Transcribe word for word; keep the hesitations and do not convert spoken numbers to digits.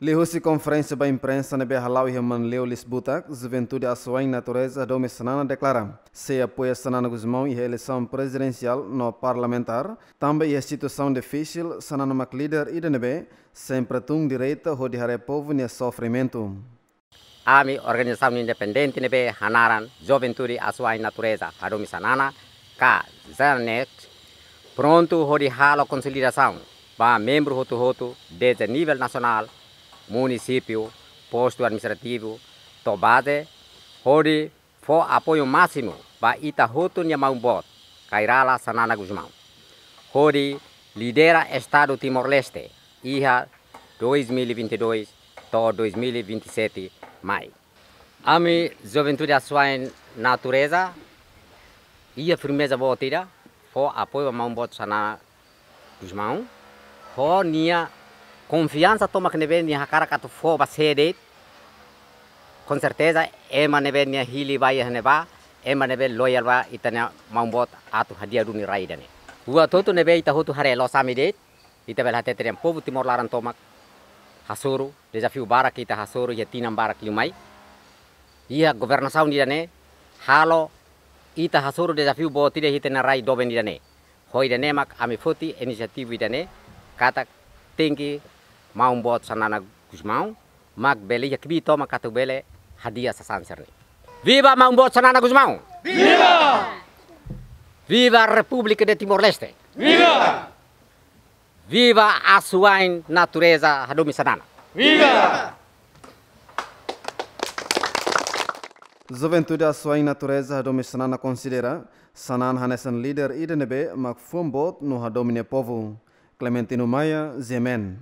Liuhusi konferénsia ba imprensa ne'ebé hala'o iha Manleu Liisbutak, Juventude Asuwa'in Natureza Hadomi Xanana deklara sei apoia Xanana Gusmão iha eleisaun prezidensiál no parlamentár, tanba iha situasaun difisil, Xanana mak líder ida ne'ebé sempre tun direta hodi haree povu nia sofrimentu. Ami organizasaun independente ne'ebé hanaran Juventude Asuwa'in Natureza Hadomi Xanana, ka JANAT, prontu hodi halo konsolidasaun ba membru hotu-hotu, dezde nivel nasionál, munisípiu, postu administrativu, to'o baze, hodi fó apoiu másimu ba ita hotu nia maun-boot, Kay Rala Xanana Gusmão, hodi lidera Estadu Timor-Leste iha dois mil e vinte e dois to'o dois mil e vinte e sete mai. Ami Juventude Asuwa'in Natureza iha firmeza boot ida fó apoiu ba maun-boot Xanana Gusmão, ho nia konfiansa tomak ne'ebé nia hakarak atu fó ba sé de'it. Com certeza, ema ne'ebé nia hili ba iha ne'ebá, ema ne'ebé loyal ba ita-nia maun-boot atu hadi'a duni rai ida-ne'e. Buat hotu ne'ebé ita hotu haree loos ami de'it, ita bele hatete dehan povu Timor laran tomak hasoru, dezafiu barak ita hasoru iha tinan barak liu mai. Iha governasaun ida-ne'e halo ita hasoru dezafiu boot ida iha ita-nia rai doben ida-ne'e. Ho ida-ne'e mak ami foti inisiativa ida-ne'e, katak tenke maun-boot Xanana Gusmão mak bele iha kbiit tomak atu bele hadi'a sasán sira-ne'e. Viva maun-boot Xanana Gusmão! Viva! Viva República de Timor-Leste! Viva! Viva Asuwa'in Natureza Hadomi Xanana! Viva! Juventude Asuwa'in Natureza Hadomi Xanana konsidera Xanana hanesan líder ida ne'ebé mak fuan boot no hadomi nia povu. Clementino Maia, G M N.